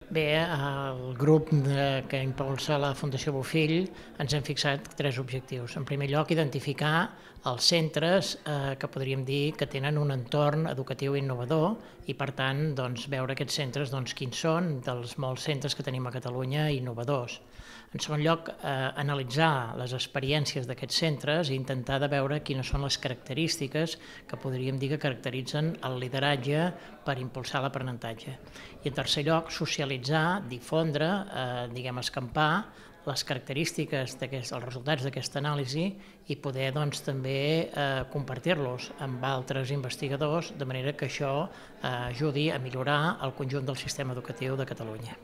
Bé, el grup que impulsa la Fundació Bofill ens hem fixat 3 objectius. En primer lloc, identificar els centres que podríem dir que tenen un entorn educatiu innovador i, per tant, veure aquests centres quins són dels molts centres que tenim a Catalunya innovadors. En segon lloc, analitzar les experiències d'aquests centres i intentar de veure quines són les característiques que podríem dir que caracteritzen el lideratge per impulsar l'aprenentatge. I en tercer lloc, socialitzar, difondre, escampar les característiques, els resultats d'aquesta anàlisi i poder també compartir-los amb altres investigadors, de manera que això ajudi a millorar el conjunt del sistema educatiu de Catalunya.